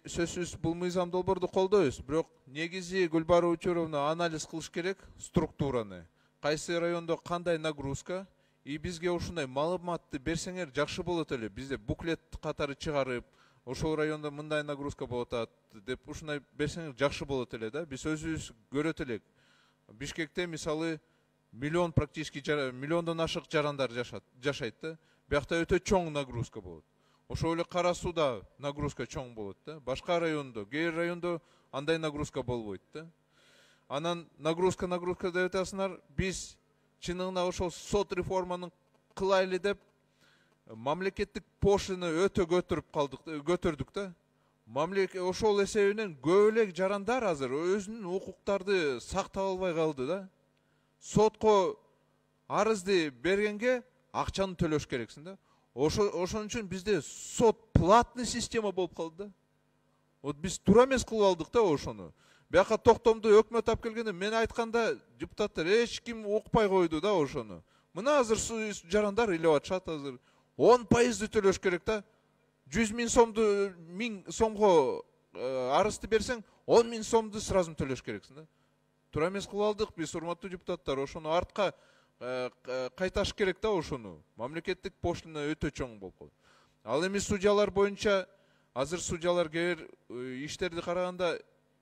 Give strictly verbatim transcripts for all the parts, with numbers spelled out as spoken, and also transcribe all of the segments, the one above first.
сөзсүз бул мыйзам долбоорду колдойбуз, бирок негизи Гүлбара Учуровна анализ кылыш керек структураны. Кайсы райондо кандай нагрузка, и бизге ушундай маалыматты берсеңер жакшы болот эле. Бизде буклет катары чыгарып, ошол райондо мындай нагрузка болот атат деп ушундай берсеңер жакшы болот эле да. Биз өзүбүз көрөт элек. Бишкекте мисалы миллион практически миллиондон ашык жарандар жашайт да. Биякта өтө чоң нагрузка болот. Ошол эле Кара сууда нагрузка чоң болот да. Башка райондо, кээ райондо андай нагрузка болбойт да. Анан нагрузка нагрузка деп атасыңар, биз чынында ошол сот реформанын кылайлы деп мамлекеттик пошлина өтө көтөрүп калдык, көтөрдүк да. Мамлекет ошол эсебинен көп эле жарандар азыр өзүнүн укуктарды сактап албай калды да. Сотко арызды бергенге акчаны төлөш керексиң да. Ошон үчүн бизде сот платный система болуп калды да. Вот биз туура эмес кылып алдык да ошону. Бияка токтомду өкмөт алып келгенде мен айтканда депутаттар эч ким укпай койду да ошону. Мына азыр жарандар ыйлап атышат азыр. он пайызды төлөш керек да. жүз миң сомду миң сомго арызды берсең, он миң сомду сразу төлөш керексиң да. Туура эмес кылып алдык биз, урматтуу депутаттар. Ошону артка кайташ керек да ошону. Мамлекеттик пошлина өтө чоң болуп калды. Ал эми судьялар боюнча азыр судьялар кээ бир иштерди караганда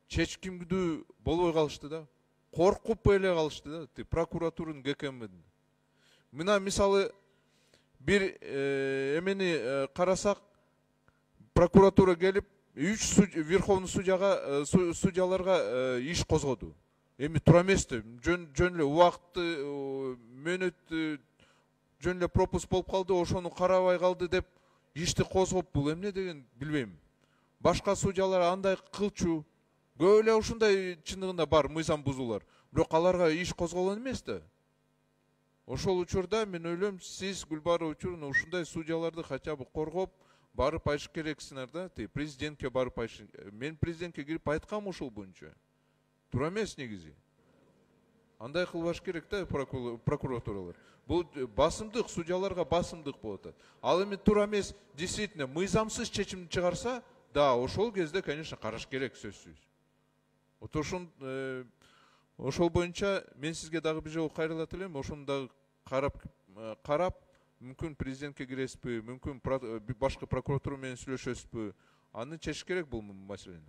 чечкимдүү болбой калышты да. Коркуп эле калышты да, прокуратуранын ГКМдин. Мына мисалы бир эмени карасак, прокуратура келип үч верховный судьяга судьяларга иш козгоду. Эми туура эмес да, жөн жөн эле убакытты, мөөнөттү жөн эле пропуск болуп калды, ошону карабай калды деп ишти козгоп, бул эмне деген билбейм. Башка судьялар андай кылчу, көп эле ушундай чындыгында бар мыйзам бузуулар. Бирок аларга иш козголгон эмес да. Ошол учурда мен ойлойм, сиз Гүлбара Учуровна ушундай судьяларды хотя бы коргоп барып айтыш керексиңер да. Президентке барып айтыш. Мен президентке кирип айткам ушул боюнча. Туура эмес негизи. Андай кылбаш керек да прокуратуралар. Бул басымдык, судьяларга басымдык болот. Ал эми туура эмес, действительно мыйзамсыз чечим чыгарса, да, ошол кезде, конечно, караш керек сөзсүз. Вот ошон ошол боюнча мен сизге дагы бир жолу кайрылат элем. Ошону дагы карап карап, мүмкүн президентке киресизби, мүмкүн башка прокуратура менен сүйлөшөсүзбү? Аны чечиш керек бул маселени.